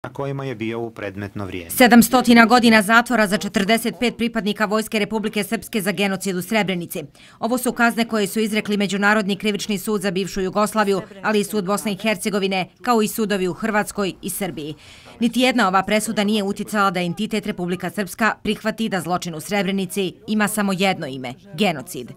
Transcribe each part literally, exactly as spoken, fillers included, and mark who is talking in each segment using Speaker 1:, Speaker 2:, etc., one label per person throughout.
Speaker 1: na kojima je bio u predmetno vrijeme.
Speaker 2: sedamsto godina zatvora za četrdeset pet pripadnika Vojske Republike Srpske za genocid u Srebrenici. Ovo su kazne koje su izrekli Međunarodni krivični sud za bivšu Jugoslaviju, ali i sud Bosne i Hercegovine, kao i sudovi u Hrvatskoj i Srbiji. Niti jedna ova presuda nije uticala da entitet Republika Srpska prihvati da zločin u Srebrenici ima samo jedno ime – genocid.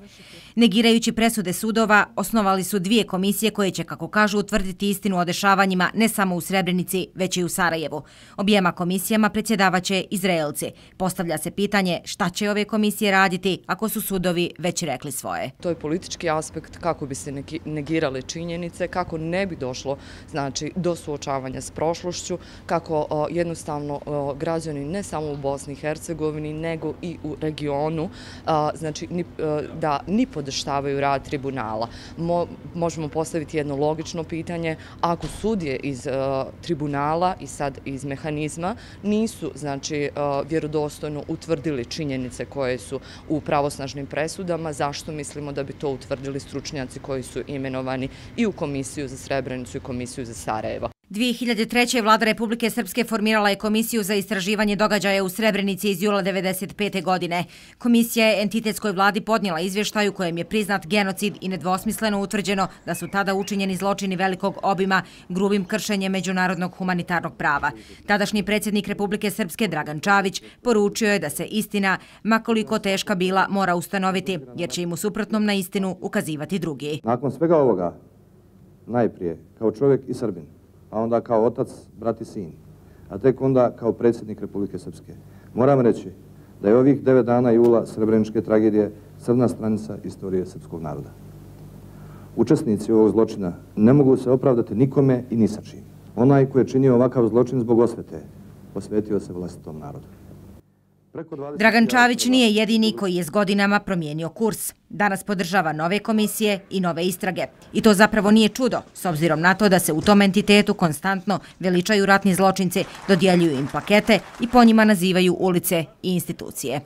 Speaker 2: Negirajući presude sudova, osnovali su dvije komisije koje će, kako kažu, utvrditi istinu o dešavanjima ne samo u Srebrenici, već i u Sarajevu. Objema komisijama predsjedavaće Izraelci. Postavlja se pitanje šta će ove komisije raditi ako su sudovi već rekli svoje.
Speaker 3: To je politički aspekt kako bi se negirale činjenice, kako ne bi došlo znači, do suočavanja s prošlošću, kako o, jednostavno o, građani ne samo u Bosni i Hercegovini, nego i u regionu, a, znači ni, a, da ni podrštavaju rad tribunala. Mo, možemo postaviti jedno logično pitanje, ako sudije iz a, tribunala i sad iz mehanizma nisu znači, a, vjerodostojno utvrdili činjenice koje su u pravosnažnim presudama, zašto mislimo da bi to utvrdili stručnjaci koji su imenovani i u Komisiju za Srebrenicu i Komisiju za Sarajevo.
Speaker 2: dvije hiljade treće. vlada Republike Srpske formirala je Komisiju za istraživanje događaja u Srebrenici iz jula devedeset pete. godine. Komisija je entitetskoj vladi podnijela izvještaj u kojem je priznat genocid i nedvosmisleno utvrđeno da su tada učinjeni zločini velikog obima grubim kršenjem međunarodnog humanitarnog prava. Tadašnji predsjednik Republike Srpske Dragan Čavić poručio je da se istina, makoliko teška bila, mora ustanoviti, jer će im u suprotnom na istinu ukazivati drugi.
Speaker 4: Nakon svega ovoga, najprije kao čovjek i Srbin, a onda kao otac, brat i sin, a tek onda kao predsjednik Republike Srpske. Moram reći da je ovih devet dana jula srebreničke tragedije crna stranica istorije srpskog naroda. Učesnici ovog zločina ne mogu se opravdati nikome i ni sa čim. Onaj koji je činio ovakav zločin zbog osvete, posvetio se vlastitom narodu.
Speaker 2: Dragan Čavić nije jedini koji je s godinama promijenio kurs. Danas podržava nove komisije i nove istrage. I to zapravo nije čudo, s obzirom na to da se u tom entitetu konstantno veličaju ratni zločinci, dodjeljuju im plakete i po njima nazivaju ulice i institucije.